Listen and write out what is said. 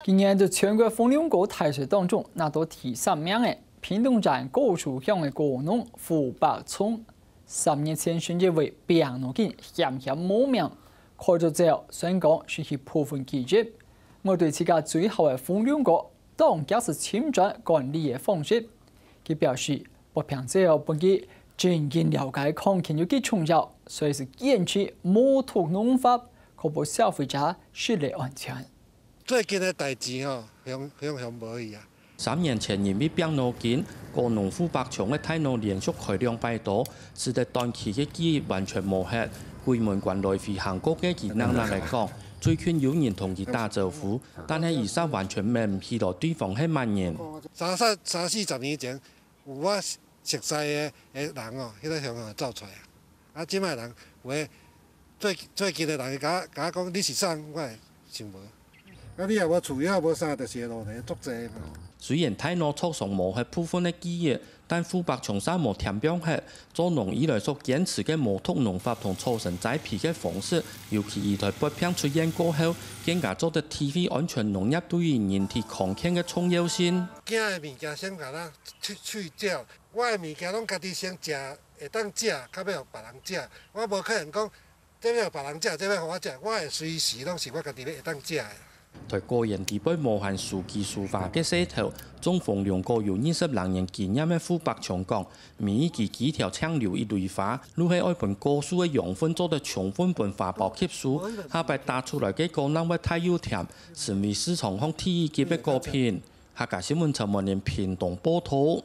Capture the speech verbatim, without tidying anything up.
今年在全國紅龍果大賽當中拿到第三名个屏東縣高樹鄉个果農胡百松，三年前先因為病腦筋險險無命，開刀之後算講失去部分記憶。面對自家最好个紅龍果，當遽係尋轉管理个方式。佢表示，發病之後分佢真正了解康健有幾重要，所以係堅持無毒農法，確保消費者食个安全。 最近个代誌吼，雄雄雄無去啊。三年前因為病腦筋，果農胡百松个大腦連續開兩擺刀，使得短期个記憶完全無忒，鬼門關來回行過个佢冷冷來講，最近有人同佢打招呼，但係佢煞完全愐毋起來對方係麼人。三三三四十年前，有我熟悉个个人哦，迄个雄雄走出来啊。啊，即摆人有个最最近的人，甲甲我讲你是啥，我也想无。啊，你也无厝，也无啥，就是路呢，足济嘛。虽然大腦著傷無忒部分个記憶，但胡百松煞無添放忒，做農以來所堅持个無毒農法同草生栽培个方式，尤其佢在發病出院過後，更加做得體會安全農業對於人體康健个重要性。驚的物件先甲咱去去掉，我的物件拢家己先食，会当食，较袂互别人食。我无可能讲 这要别人食，这要互我食，我会随时拢是我家己要会当食的。在果園底背無閒手機書畫个世頭，種紅龍果有二十零年經驗个胡百松講，每一支枝條淨留一蕊花，就係愛分果樹个養分做得充分分花苞吸收，下擺打出來个果正會大又甜，成為市場上第一級个果品。客家新聞陳文林屏東報導。